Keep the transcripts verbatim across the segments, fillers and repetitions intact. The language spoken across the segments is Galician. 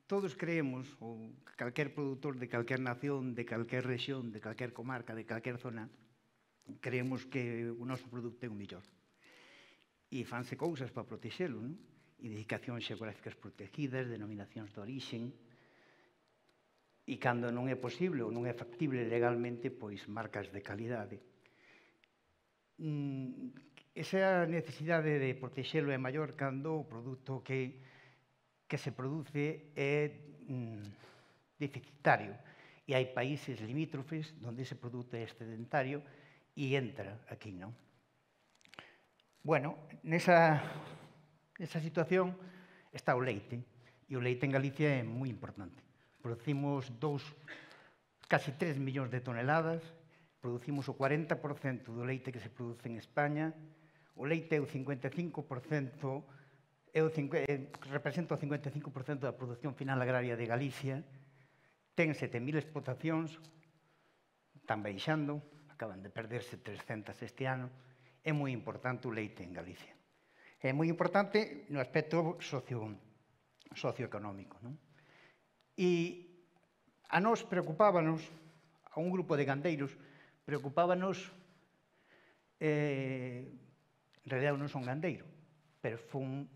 todos creemos, ou calquer produtor de calquer nación, de calquer rexión, de calquer comarca, de calquer zona, creemos que o noso produto é o mellor. E fanse cousas para protexelo, non? Indicacións xeográficas protegidas, denominacións de orixen, e cando non é posible ou non é factible legalmente, pois marcas de calidade. Esa necesidade de protexelo é maior cando o produto que que se produce é deficitario e hai países limítrofes onde ese produto é excedentario e entra aquí, non? Bueno, nesa situación está o leite, e o leite en Galicia é moi importante. Producimos dous, casi tres millóns de toneladas, producimos o cuarenta por cento do leite que se produce en España, o leite é o cincuenta e cinco por cento, representa o cincuenta e cinco por cento da produción final agraria de Galicia, ten sete mil explotacións, están baixando, acaban de perderse trescentas este ano, é moi importante o leite en Galicia. É moi importante no aspecto socioeconómico. E a nós preocupábanos, a un grupo de gandeiros, preocupábanos, en realidad non son gandeiro, pero foi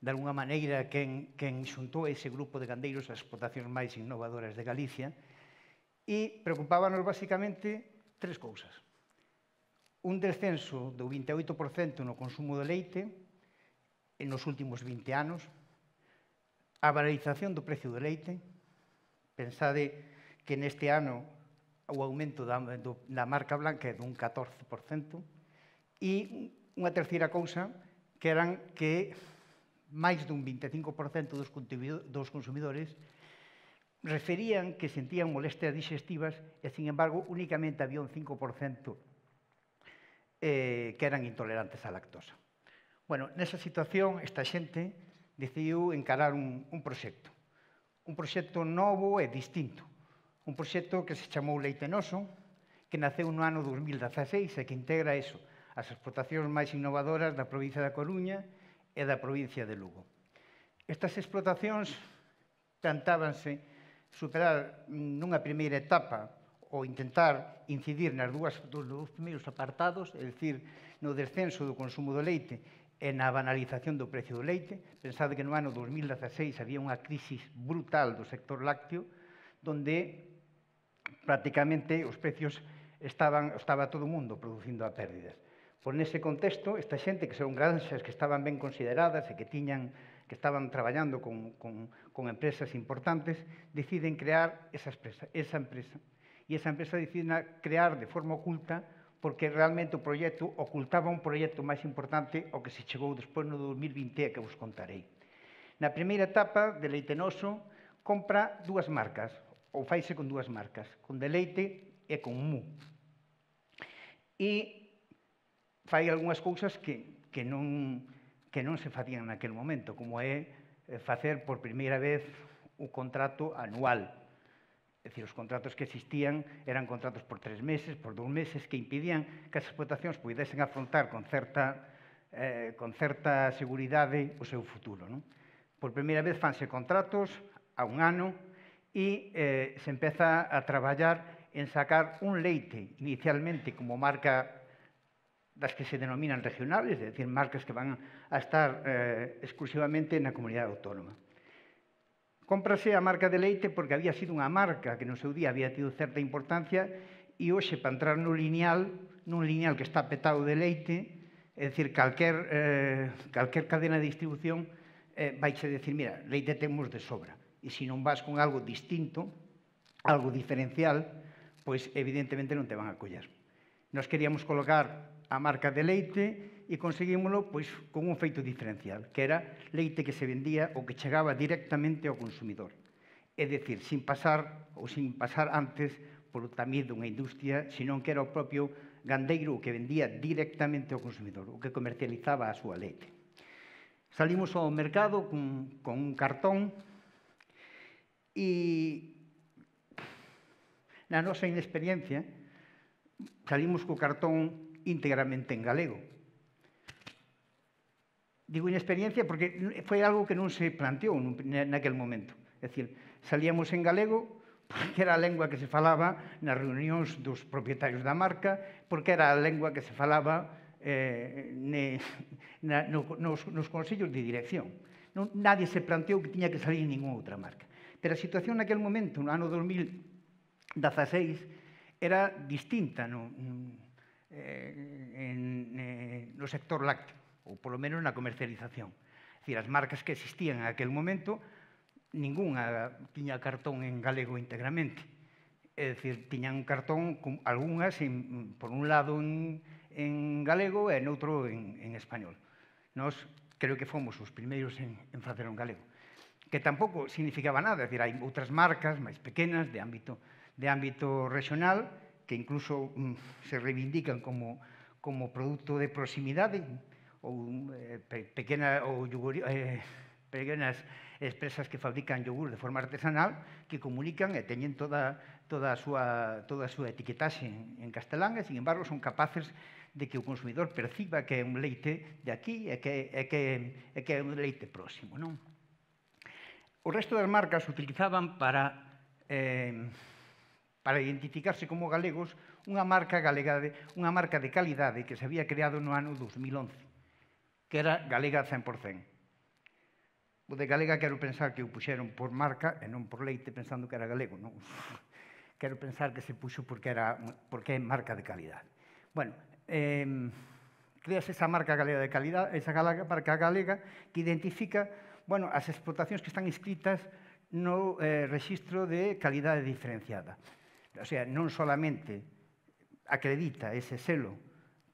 de alguna maneira quen xuntou ese grupo de gandeiros as explotacións máis innovadoras de Galicia, e preocupábanos basicamente tres cousas. Un descenso do vinte e oito por cento no consumo de leite nos últimos vinte anos, a valorización do precio do leite, pensade que neste ano o aumento da marca blanca é dun catorce por cento, e unha terceira cousa que eran que máis dun vinte e cinco por cento dos consumidores referían que sentían molestias digestivas e, sin embargo, únicamente había un cinco por cento que eran intolerantes á lactosa. Bueno, nesa situación, esta xente decidiu encarar un proxecto. Un proxecto novo e distinto. Un proxecto que se chamou Leite Noso, que naceu no ano dos mil dezaseis e que integra eso, as explotacións máis innovadoras da provincia da Coruña e da provincia de Lugo. Estas explotacións tentábanse superar nunha primeira etapa ou intentar incidir nas dúas, dos dous primeiros apartados, é dicir, no descenso do consumo do leite e na banalización do precio do leite. Pensade que no ano dos mil dezaseis había unha crisis brutal do sector lácteo, donde prácticamente os precios estaban, estaba todo o mundo producindo a pérdidas. Por nese contexto, esta xente, que son granxas que estaban ben consideradas e que tiñan, que estaban traballando con, con, con empresas importantes, deciden crear esa empresa, esa empresa. E esa empresa decide crear de forma oculta, porque realmente o proxecto ocultaba un proxecto máis importante ao que se chegou despois no dos mil vinte e que vos contarei. Na primeira etapa de Leite Noso, compra dúas marcas, ou faise con dúas marcas, con Deleite e con Mu. E fai algunhas cousas que, que, non, que non se facían naquele momento, como é facer por primeira vez o contrato anual. É dicir, os contratos que existían eran contratos por tres meses, por dous meses, que impidían que as explotacións pudesen afrontar con certa, eh, con certa seguridade o seu futuro. Non? Por primeira vez fanse contratos a un ano e eh, se empeza a traballar en sacar un leite, inicialmente como marca das que se denominan regionales, é dicir, marcas que van a estar eh, exclusivamente na comunidade autónoma. Cómprase a marca de leite porque había sido unha marca que no seu día había tido certa importancia e hoxe, para entrar no lineal, nun lineal que está petado de leite, é dicir, calquer, eh, calquer cadena de distribución eh, vaixe decir, mira, leite temos de sobra. E se non vas con algo distinto, algo diferencial, pois evidentemente non te van a coller. Nos queríamos colocar a marca de leite e conseguímoslo pois, con un feito diferencial, que era leite que se vendía ou que chegaba directamente ao consumidor. É dicir, sin pasar ou sin pasar antes por o tamiz dunha industria, senón que era o propio gandeiro que vendía directamente ao consumidor, o que comercializaba a súa leite. Salimos ao mercado con, con un cartón e na nosa inexperiencia salimos co cartón íntegramente en galego. Digo inexperiencia porque foi algo que non se planteou naquele momento. É dicir, salíamos en galego porque era a lengua que se falaba nas reunións dos propietarios da marca, porque era a lengua que se falaba eh, ne, na, no, nos, nos consellos de dirección. Non, nadie se planteou que tiña que salir ninguna outra marca. Pero a situación naquele momento, no ano dos mil dezaseis, era distinta no, eh, en, eh, no sector lácteo, ou polo menos na comercialización. É dicir, as marcas que existían en aquel momento, ninguna tiña cartón en galego íntegramente. É dicir, tiñan un cartón, con algunhas, en, por un lado en, en galego e noutro en, en español. Nós creo que fomos os primeiros en, en facer en galego. Que tampouco significaba nada, é dicir, hai outras marcas máis pequenas de ámbito, de ámbito regional que incluso mm, se reivindican como, como produto de proximidade ou eh, pe, pequena, ou yogur, eh, pequenas empresas que fabrican yogur de forma artesanal que comunican e teñen toda, toda, a, súa, toda a súa etiquetaxe en, en castelán e, sin embargo, son capaces de que o consumidor perciba que é un leite de aquí e que é, que, é, que é un leite próximo, non? O resto das marcas utilizaban para, eh, para identificarse como galegos unha marca, galega de, unha marca de calidade que se había creado no ano dos mil once, que era Galega cen por cen. O de galega quero pensar que o puxeron por marca e non por leite pensando que era galego, non? Quero pensar que se puxo porque, era, porque é marca de calidade. Bueno, eh, creas esa marca galega de calidade, esa marca galega que identifica, bueno, as explotacións que están inscritas no eh, rexistro de calidade diferenciada. O sea, non solamente acredita ese selo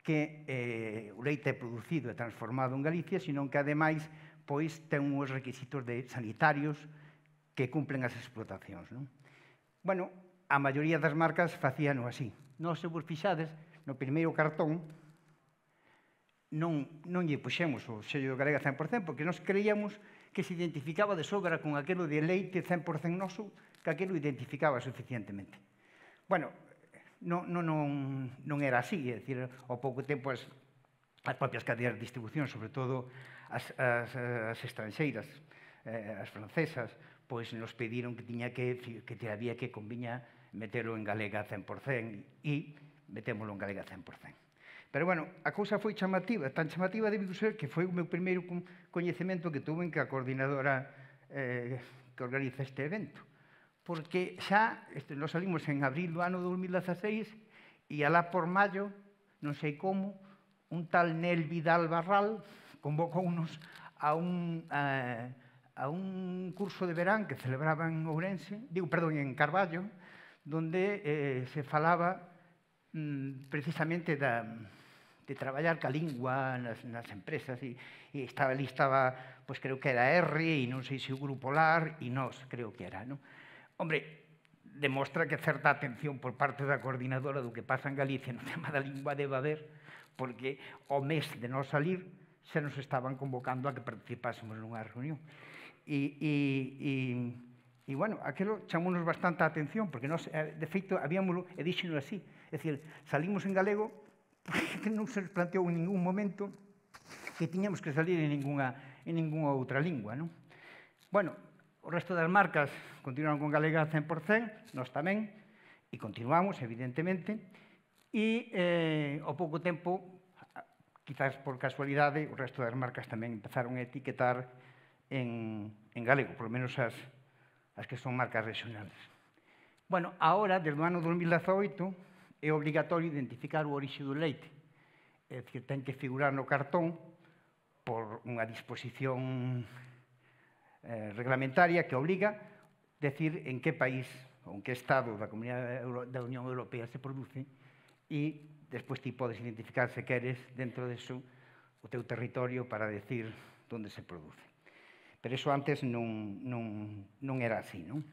que eh, o leite é producido e transformado en Galicia, sino que, ademais, pois ten uns requisitos de sanitarios que cumplen as explotacións, non? Bueno, a maioría das marcas facíano así. Nós, se vos fixades, no primeiro cartón non, non lle puxemos o sello de Galega cen por cen porque nós creíamos que se identificaba de sobra con aquilo de leite cen por cen noso, que aquilo identificaba suficientemente. Bueno, non, non, non, non era así, é dicir, ao pouco tempo as, as propias cadeas de distribución, sobre todo as, as, as estranxeiras, eh, as francesas, pois nos pediron que tiña que, que te había que conviña metelo en galega cen por cen e metémolo en galega cen por cen. Pero, bueno, a cousa foi chamativa, tan chamativa debido ser que foi o meu primeiro coñecemento que tuve en que a coordinadora eh, que organiza este evento. Porque xa, este, nos salimos en abril do ano dos mil dezaseis e alá por maio, non sei como, un tal Nel Vidal Barral convocounos a un, a, a un curso de verán que celebraba en Ourense, digo, perdón, en Carballo, donde eh, se falaba mm, precisamente da, de traballar ca lingua nas, nas empresas e, e estaba ali, estaba, pois creo que era R e non sei se o Grupo Lar e nós, creo que era, non? Hombre, demostra que certa atención por parte da coordinadora do que pasa en Galicia no tema da lingua debe haber, porque ao mes de non salir se nos estaban convocando a que participásemos nunha reunión. E, e, e, e bueno, aquilo chamounos bastante a atención, porque nós, de feito, habíamos, e díxeno así, é dicir, salimos en galego porque non se nos planteou en ningún momento que tiñamos que salir en ninguna, en ninguna outra lingua, non? Bueno, o resto das marcas continuaron con Galega cen por cen, nós tamén, e continuamos, evidentemente, e eh, ao pouco tempo, quizás por casualidade, o resto das marcas tamén empezaron a etiquetar en, en galego, por lo menos as, as que son marcas regionales. Bueno, agora, desde o ano dos mil dezaoito, é obligatorio identificar o orixe do leite. É dicir, ten que figurar no cartón por unha disposición eh, reglamentaria que obliga a decir en que país ou en que estado da Comunidade da Unión Europea se produce e despois ti podes identificar, se queres, dentro deso, o teu territorio para decir onde se produce. Pero iso antes non, non, non era así, non?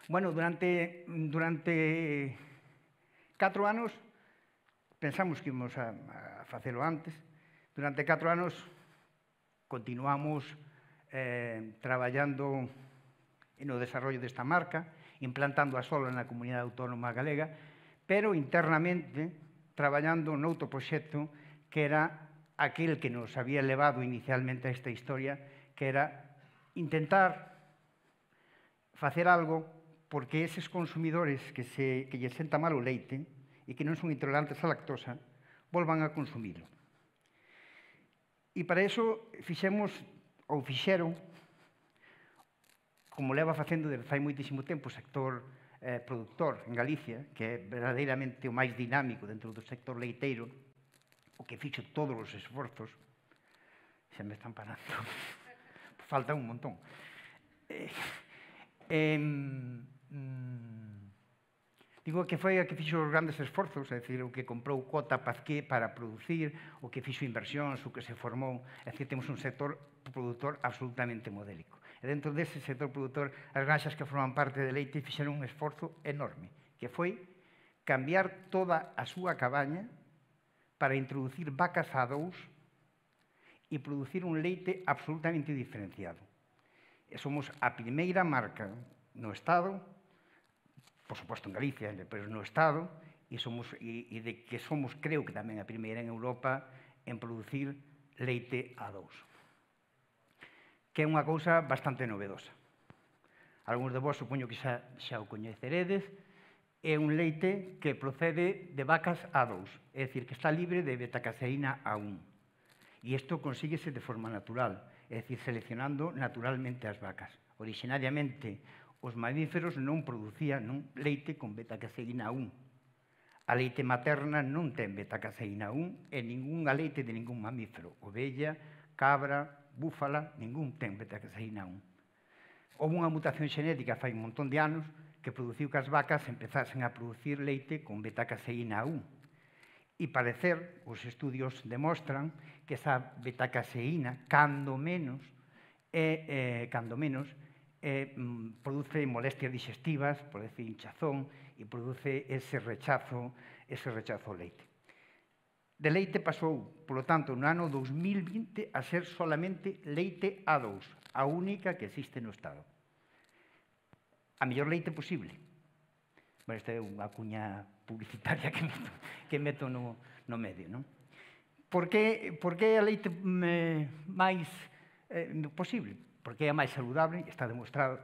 Bueno, durante, durante catro anos, pensamos que íamos a, a facelo antes, durante catro anos continuamos eh, traballando no desarrollo desta marca, implantando a solo na Comunidade Autónoma Galega, pero internamente traballando noutro proxecto que era aquel que nos había levado inicialmente a esta historia, que era intentar facer algo porque eses consumidores que, se, que lle senta mal o leite e que non son intolerantes á lactosa volvan a consumilo. E para iso fixemos, ou fixeron, como leva facendo desde fai moitísimo tempo o sector eh, productor en Galicia, que é verdadeiramente o máis dinámico dentro do sector leiteiro, o que fixo todos os esforzos, xa me están parando, falta un montón. Eh, eh, mm, digo que foi a que fixo os grandes esforzos, é dicir, o que comprou Cota Pazqué para producir, o que fixo inversións, o que se formou, é dicir, temos un sector produtor absolutamente modélico. E dentro dese sector produtor, as granxas que forman parte de leite fixeron un esforzo enorme, que foi cambiar toda a súa cabaña para introducir vacas a dous e producir un leite absolutamente diferenciado. E somos a primeira marca no Estado, por suposto en Galicia, pero no Estado, e, somos, e, e de que somos, creo que tamén a primeira en Europa, en producir leite a dous. Que é unha cousa bastante novedosa. Algúns de vós supoño que xa, xa o coñeceredes, é un leite que procede de vacas a dous, é dicir, que está libre de betacaseína a un. E isto consíguese de forma natural, é dicir, seleccionando naturalmente as vacas. Orixinariamente, os mamíferos non producían non, leite con betacaseína a un. A leite materna non ten betacaseína a un e ninguna leite de ningún mamífero. Ovella, cabra, búfala, ningún ten betacaseína a un. Houve unha mutación xenética fai un montón de anos que produciu que as vacas empezasen a producir leite con betacaseína a un. E parecer, os estudios demostran que esa betacaseína, cando menos, é, eh, cando menos, eh, produce molestias digestivas, produce hinchazón e produce ese rechazo, ese rechazo ao leite. De leite pasou, polo tanto, no ano dos mil vinte a ser solamente leite a dous, a única que existe no Estado. A mellor leite posible. Bueno, esta é unha cuña publicitaria que meto, que meto no, no medio, non? Por que, por que a leite eh, máis eh, posible? Porque é a máis saludable, está demostrado,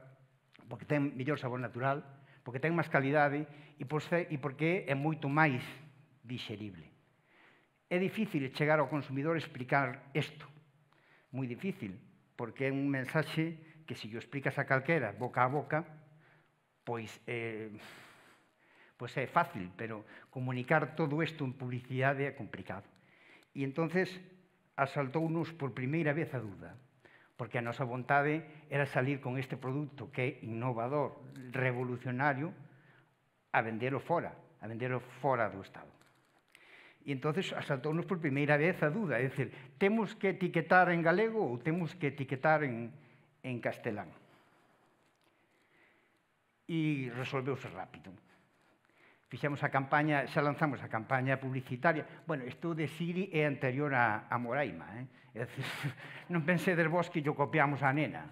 porque ten mellor sabor natural, porque ten máis calidade e, por ser, e porque é moito máis dixerible. É difícil chegar ao consumidor e explicar isto, moi difícil, porque é un mensaxe que se o explicas a calquera, boca a boca, pois, eh, pois é fácil, pero comunicar todo isto en publicidade é complicado. E entonces asaltounos por primeira vez a dúda, porque a nosa vontade era salir con este produto que é innovador, revolucionario, a vendelo fora, a vendelo fora do Estado. E entonces asaltounos por primeira vez a dúda, é dicir, temos que etiquetar en galego ou temos que etiquetar en, en castelán? E resolveuse rápido. Fixemos a campaña, xa lanzamos a campaña publicitaria. Bueno, isto de Siri é anterior a, a Moraima, eh? É dicir, non pensedes vos que yo copiamos a nena.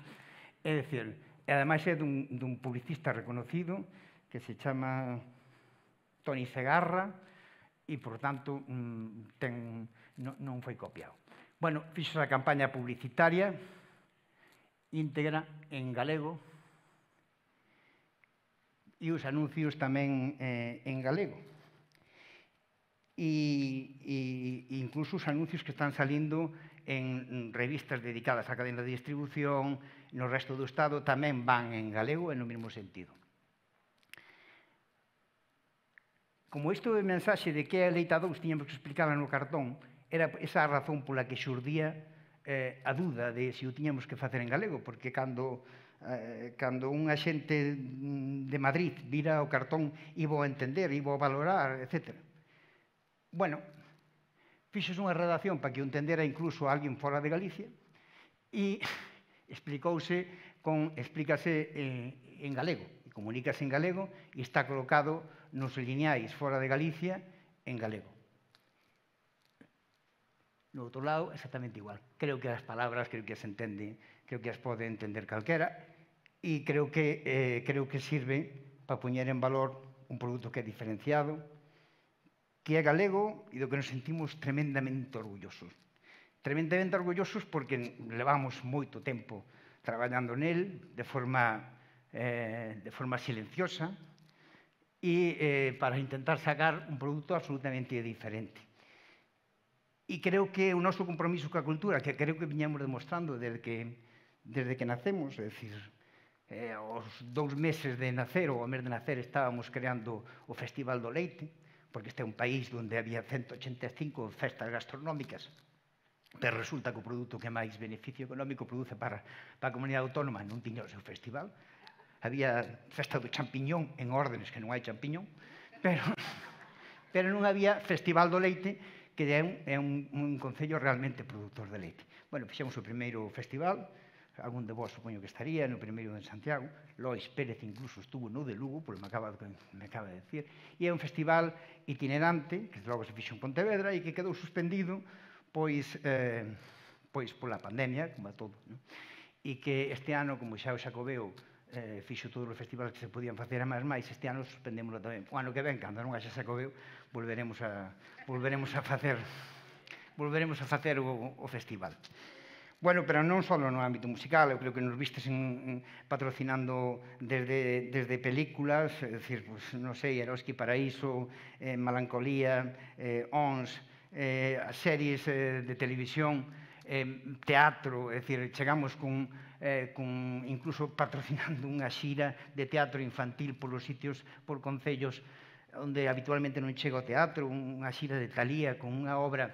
É dicir, e ademais é dun, dun publicista reconocido que se chama Toni Segarra e, por tanto, ten, non, non foi copiado. Bueno, fixo a campaña publicitaria íntegra en galego e os anuncios tamén eh, en galego. E, e incluso os anuncios que están salindo en revistas dedicadas á cadena de distribución, no resto do Estado, tamén van en galego e no mesmo sentido. Como isto de mensaxe de que é a leite a dous tiñamos que explicarla no cartón, era esa a razón pola que xurdía eh, a dúda de se o tiñamos que facer en galego, porque cando Eh, cando un axente de Madrid vira o cartón iba a entender, iba a valorar, etcétera. Bueno, fixos unha redacción para que o entendera incluso alguén fora de Galicia e explicouse con, explícase eh, en galego, e comunícase en galego e está colocado nos lineais fora de Galicia en galego. No outro lado, exactamente igual. Creo que as palabras, creo que as entende, creo que as pode entender calquera e creo que, eh, creo que sirve para poñer en valor un produto que é diferenciado, que é galego e do que nos sentimos tremendamente orgullosos. Tremendamente orgullosos porque levamos moito tempo traballando nel de forma eh, de forma silenciosa e eh, para intentar sacar un produto absolutamente diferente. E creo que o noso compromiso coa cultura, que creo que viñamos demostrando desde que, desde que nacemos, é dicir, eh, aos dous meses de nacer ou ao mes de nacer estábamos creando o Festival do Leite, porque este é un país onde había ciento ochenta e cinco festas gastronómicas, pero resulta que o produto que máis beneficio económico produce para, para a comunidade autónoma non tiña o seu festival. Había festa do champiñón en órdenes que non hai champiñón, pero, pero non había Festival do Leite, que é un, é un, un concello realmente produtor de leite. Bueno, fixemos o primeiro festival, algún de vos supoño que estaría, no primeiro en Santiago, Lois Pérez incluso estuvo no de Lugo, porque me acaba, me acaba de decir, e é un festival itinerante, que logo se fixo en Pontevedra, e que quedou suspendido pois, eh, pois pola pandemia, como a todo, non? E que este ano, como xa o Xacobeo eh, fixo todos os festivales que se podían facer a máis máis, este ano suspendémoslo tamén. O ano que ven, cando non haxa Xacobeo, volveremos a, volveremos a facer volveremos a facer o, o festival. Bueno, pero non só no ámbito musical, eu creo que nos vistes en, en, patrocinando desde, desde películas, é dicir, pues, non sei, Eroski Paraíso, eh, Melancolía, eh, Ons, eh, as series eh, de televisión, eh, teatro, é dicir, chegamos con, eh, con incluso patrocinando unha xira de teatro infantil polos sitios, por concellos onde habitualmente non chega o teatro, unha xira de Talía con unha obra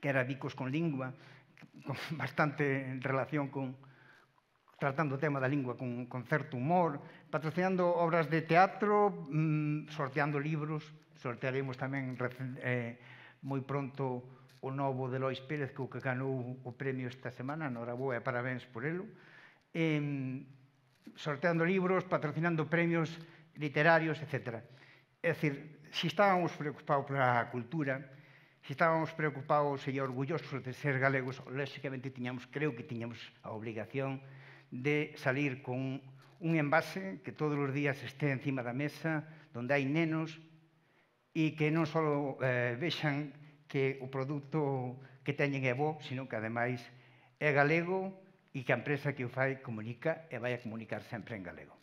que era Bicos con lingua, con bastante relación con tratando o tema da lingua con, con certo humor, patrocinando obras de teatro, mmm, sorteando libros, sortearemos tamén eh, moi pronto o novo de Lois Pérez, que o que ganou o premio esta semana, noraboa e parabéns por elo, eh, sorteando libros, patrocinando premios literarios, etcétera. É dicir, se estábamos preocupados pola cultura, se estábamos preocupados e orgullosos de ser galegos, lógicamente tiñamos, creo que tiñamos a obligación de salir con un envase que todos os días este encima da mesa, donde hai nenos, e que non só eh, vexan que o produto que teñen é bo, sino que ademais é galego e que a empresa que o fai comunica e vai a comunicar sempre en galego.